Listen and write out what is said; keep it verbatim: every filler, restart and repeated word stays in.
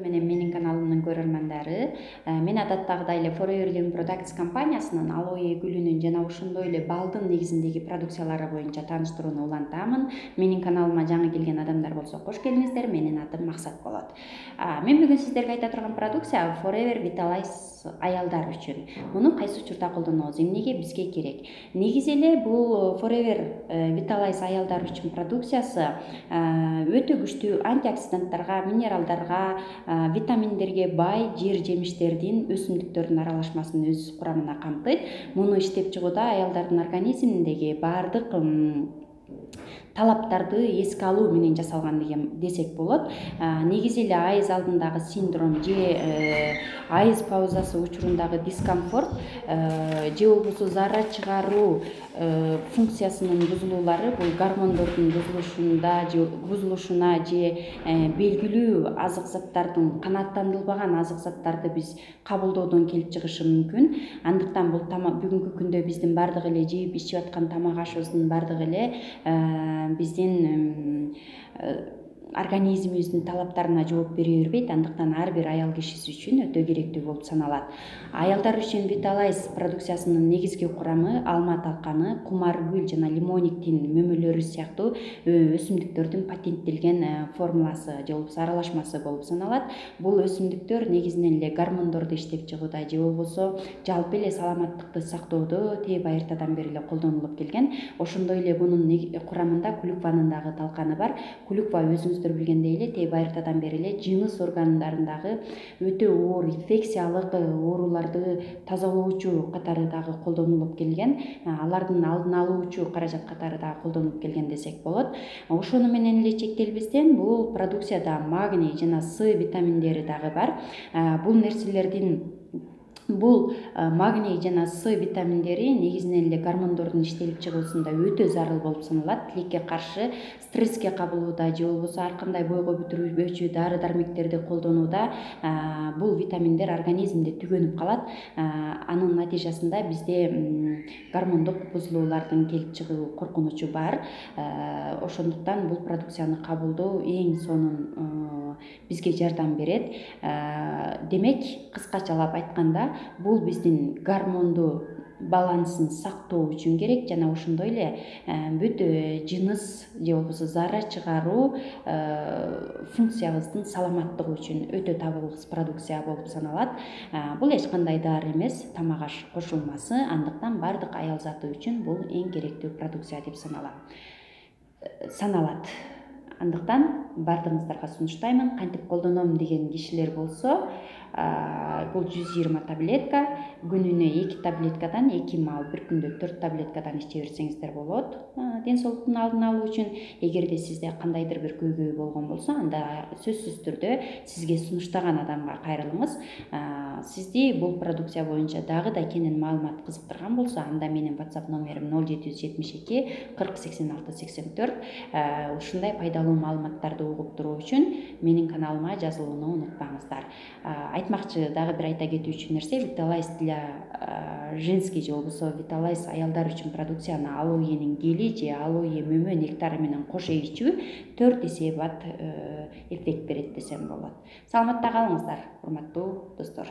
менен менин каналымдын көрөрмандары, мен адаттагыдай эле Forever Living Products компаниясынын алоэ гүлүнүн жана ошондой эле балдын негизиндеги продукциялары боюнча тааныштырууну улантамын. Менин каналыма жаңы келген адамдар болсо кош келиңиздер. Менин атым Максат болот. Мен бүгүн сиздерге айта турган продукция Forever Vitalize аялдар үчүн. Муну кайсы учурда колдонобуз, эмнеге бизге керек? Негизи эле бул Forever Vitalize аялдар үчүн продукциясы өтө күчтүү антиоксиданттарга, минералдарга, витаминдерге бай жер жемиштердин, өсүмдүктөрдүн аралашмасын өз курамына камтыйт. Муну иштеп чыгууда аялдардын организминдеги баардык талаптарды эске алуу менен жасалган деген десек болот. Негизи эле айыз алдындагы синдром же айыз паузасы учурундагы дискомфорт же болбосо зарра чыгаруу функциясынын бузулуулары, бул гормондордун бузулушунда же бузулушуна же белгилүү азык заттардын, канааттандырылбаган азык заттарды биз кабылдоодон келип чыгышы мүмкүн. Андыктан бул бүгүнкү күндө биздин бардык эле жеп ичип аткан тамак ашыбыздын бардыгы эле биздин организмибиздин талаптарына жооп бере бербейт. Андыктан ар бир аял кишиси үчүн өтө керектүү болуп саналат. Аялдар үчүн Vitalize продукциясынын негизги курамы алма талканы, кумар гүл жана лимониктин мөмөлөрү сыяктуу өсүмдүктөрдүн патенттелген формуласы же болбосо аралашмасы болуп саналат. Бул өсүмдүктөр негизинен эле гормондорду иштеп чыгууда же болбосо жалпы эле саламаттыкты сактоодо тээ байыртадан бери эле колдонулуп келген. Ошондой эле бунун курамында клюкванын дагы талканы бар. Клюква өзүңүздөр билгендей эле тээ байыртадан бери эле жыныс органдарындагы өтө оор инфекциялык ооруларды тазалоочу катары дагы колдонулуп келген. Алардын алдын алуучу каражат катары дагы колдонулуп келген десек болот. Ошону менен эле чектелбестен бул продукцияда магний жана С витаминдери дагы бар. Бул нерселердин Бул магний жана С витаминдери негизинен эле гормондордун иштелип чыгуусунда өтө зарыл болуп саналат. Тилекке каршы, стресске кабылууда же болбосо ар кандай бойго бүтүрүүчү дары дармектерди колдонууда бул витаминдер организмде түгөнүп калат. Анын натыйжасында бизде гормондук бузулуулардын келип чыгуу коркунучу бар. Ошондуктан бул продукцияны кабылдоо эң сонун бизге жардам берет. Демек, кыскачалап айтканда, бул биздин гормондуу балансын сактоо үчүн керек жана ошондой эле бүт жыныс же болбосо зарра чыгаруу функциябыздын саламаттыгы үчүн өтө табылгыс продукция болуп саналат. Бул эч кандай дары эмес, тамак аш кошулмасы. Андыктан бардык аял заты үчүн бул эң керектүү продукция деп саналат. Саналат. Андыктан бардыгыңыздарга сунуштаймын. Кантип колдоном деген кишилер болсо, бул жүз жыйырма таблетка, күнүнө эки таблеткадан эки маал, бир күндө төрт таблеткадан иче берсеңиздер болот. Ден соолуктун алдын алуу үчүн. Эгерде сизде кандайдыр бир көйгөй болгон болсо, анда сөзсүз түрдө сизге сунуштаган адамга кайрылыңыз. Сизди бул продукция боюнча дагы да кенен маалымат кызыктырган болсо, анда менин WhatsApp номерим ноль жети жүз жетимиш эки кырк сексен алты сексен төрт. Ушундай пайдалуу маалыматтарды угуп туруу үчүн менин каналыма жазылууну унутпаңыздар. Айтмакчы дагы бир айта кетүүчү нерсе, Vitalize для женский же болбосо Vitalize аялдар үчүн продукцияны алоэнин гели же алоэ мөмө нектары менен кошо ичүү төрт эсе бат эффект берет десем болот. Саламатта калыңыздар, урматтуу достор.